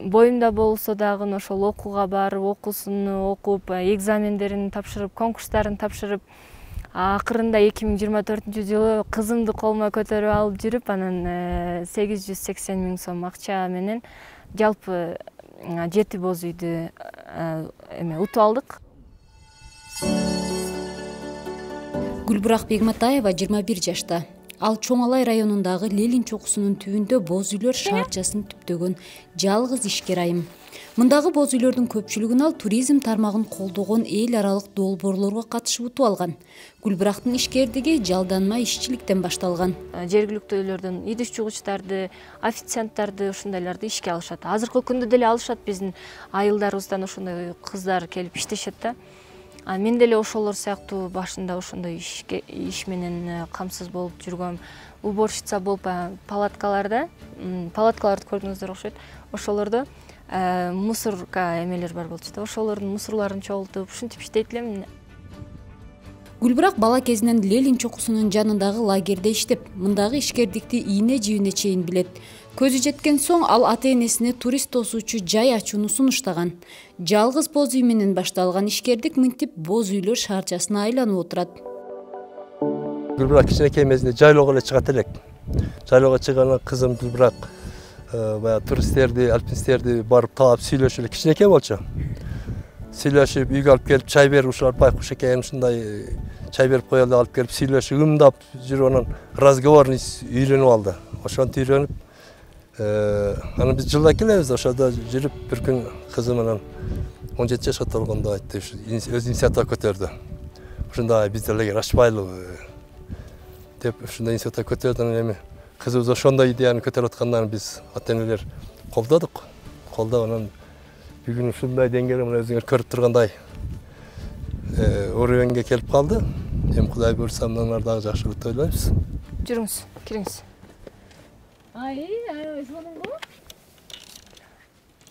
боюмда болсо дагы ошол окууга барып, окуусун окуп, экзамендерин тапшырып, конкурстарын тапшырып, акырында 2024-жылы кызымды колума көтөрүп алып жүрүп, анан 880 000 сом акча менен жалпы 7 боз үйдү утуп алдык. Гүлбурак Бегматаева 21 жашта. Ал Чоң Алай районундагы Ленин чокусунун түбүндө боз үйлөр шаарчасын түптөгөн жалгыз ишкер айым. Мындагы боз үйлөрдүн көпчүлүгүн ал туризм тармагын колдогон эл аралык долбоорлорго катышып утуп алган. Гүлбурактын ишкердиги жалданма ишчиликтен башталган. Жергиликтүүлөрдөн идиш жугучтарды, официанттарды, ушундайларды ишке алышат. Азыркы күндө деле алышат, биздин айылдарыбыздан ошондой кыздар келип иштешет да. Мен деле ошолор сыяктуу башында ошондой иш менен камсыз болуп жүргөм. Уборщица болуп палаткаларды көрдүңүздөр окшойт. Ошолордо мусорка эмелер бар болчу да. Ошолордун мусорларын чогултуп, ушинтип иштейт элем. Гүлбурак бала кезинен Ленин чокусунун жанындагы лагерде иштеп, мындагы ишкердикти ийне жибине чейин билет. Көзү жеткен соң ал ата-энесине турист тосуучу жай ачууну сунуштаган. Жалгыз боз үй менен башталган ишкердик мынтип боз үйлөр шаарчасына айланып отурат. Гүлбурак кичинекей мезгилде жайлоого эле чыгат элек. Жайлоого чыгганда кызым Гүлбурак баягы туристтерди, альпинисттерди барып таап сүйлөшүп эле кичинекей болчу. Сүйлөшүп, үйгө алып келип чай берип, ушулар байкуш экен, ушундай чай берип коелу деп алып келип сүйлөшүп, ымдап жүрүп анан разговорный үйрөнүп алды. Ошонтип үйрөнүп, анан биз жылда келебиз, ошодо жүрүп бир күн кызым анан 17 жашка толгондо айтты, өз инициатива көтөрдү. Ушундай биз деле ачпайлыбы деп ушундай инициатива көтөрдү. Анан эми кызыбыз ошондой идеяны көтөрүп аткандан биз ата-энелер колдодук. Колдоп анан бүгүн ушундай деңгээлде мына өзүңөр көрүп тургандай уровеньге келип калды. Эми Кудай буйрса мындан ары дагы жакшыраак деп ойлойбуз. Жүрүңүз, кириңиз. Сонунбу?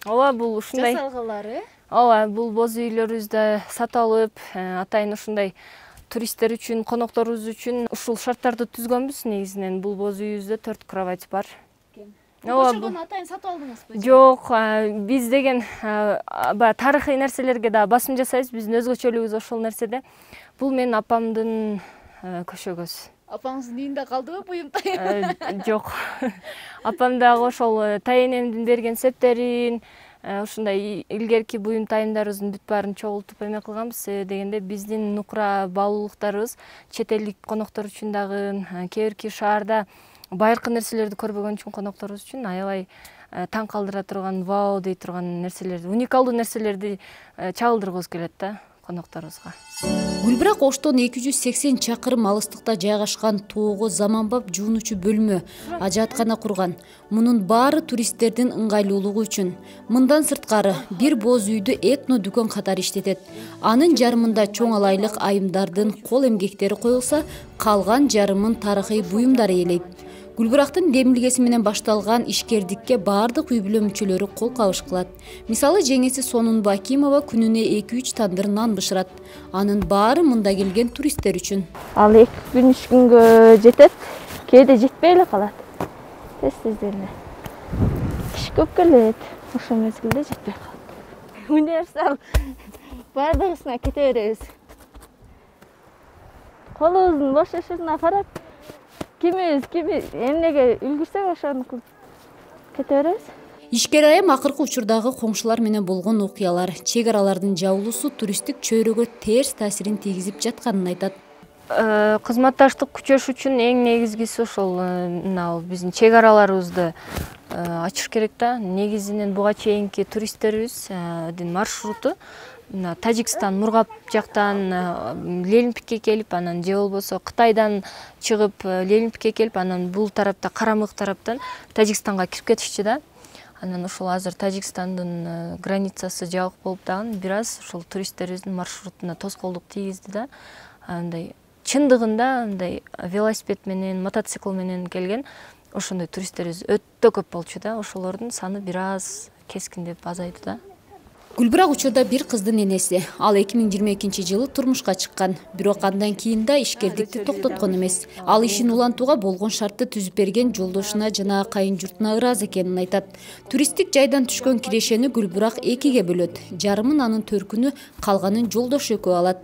Ооба, бул ушундай жасалгалары. Ооба, бул боз үйлөрүбүздө сатып алып, атайын ушундай туристтер үчүн, конокторубуз үчүн ушул шарттарды түзгөнбүз. Негизинен бул боз үйүбүздө 4 кровать бар. Ошону атайын сатып алдыңызбы? Жок, биз деген баягы тарыхый нерселерге да басым жасайбыз. Биздин өзгөчөлүгүбүз ошол нерседе. Бул менин апамдын көшөгөз. Апаңыздын үйүндө калдыбы буюм тайын? Жок. Апам дагы ошол тайенемдин берген септерин, ушундай илгерки буюм тайымдарыбыздын бүт баарын чогултуп эме кылганбыз. Дегенде биздин нукура баалуулуктарыбыз чет элдик коноктор үчүн дагы, кээ бирки шаарда байыркы нерселерди көрбөгөн үчүн конокторубуз үчүн аябай таң калтыра турган, вау дей турган нерселерди, уникалдуу нерселерди чагылдыргыбыз келет да конокторубузга. Гүлбурак Оштон 280 чакырым алыстыкта жайгашкан тоого заманбап жуунучу бөлмө, ажааткана курган. Мунун баары туристтердин ыңгайлуулугу үчүн. Мындан сырткары бир боз үйдү этно дүкөн катары иштетет. Анын жарымында чоң алайлык айымдардын кол эмгектери коюлса, калган жарымын тарыхый буюмдар ээлейт. Гүлбурактын демилгеси менен башталган ишкердикке баардык үй бүлө мүчөлөрү кол кабыш кылат. Мисалы, жеңеси Сонунбу Акимова күнүнө 2-3 тандыр нан бышырат. Анын баары мында келген туристтер үчүн. Ал 2 күн 3 күнгө жетет, кээде жетпей эле калат. Тез эле. Киши көп келет, ошол мезгилде жетпей калат. Универсал баардыгысына кете беребиз. Колубуздун бош эшигине карап, кимибиз эмнеге үлгүрсөк ошону кылып кете беребиз. Ишкер айым акыркы учурдагы коңшулар менен болгон окуялар, чек аралардын жабылуусу туристтик чөйрөгө терс таасирин тийгизип жатканын айтат. Кызматташтык күчөш үчүн эң негизгиси ошол биздин чек араларыбызды ачыш керек да. Негизинен буга чейинки туристтерибиздин маршруту Тажикстан, Мургап жактан Лелинпикке келип, анан же болбосо Кытайдан чыгып Лелинпикке келип, анан бул тарапта Карамык тараптан Тажикстанга кирип кетишчи да. Анан ошол азыр Тажикстандын границасы жабык болуп дагы бир аз ошол туристтерибиздин маршрутуна тоскоолдук тийгизди да. Андай чындыгында андай велосипед менен, мотоцикл менен келген ошондой туристтерибиз өтө көп болчу да. Ошолордун саны бир аз кескиндеп азайды да. Гүлбирак учурда бир кыздын энеси. Ал 2022-жылы турмушка чыккан. Бирок андан кийин да ишкердикти токтоткон эмес. Ал ишин улантууга болгон шартты түзүп берген жолдошуна жана кайын журтуна ыраазы экенин айтат. Туристтик жайдан түшкөн кирешени Гүлбирак экиге бөлөт. Жарымын анын төркүнү, калганын жолдошу экөө алат.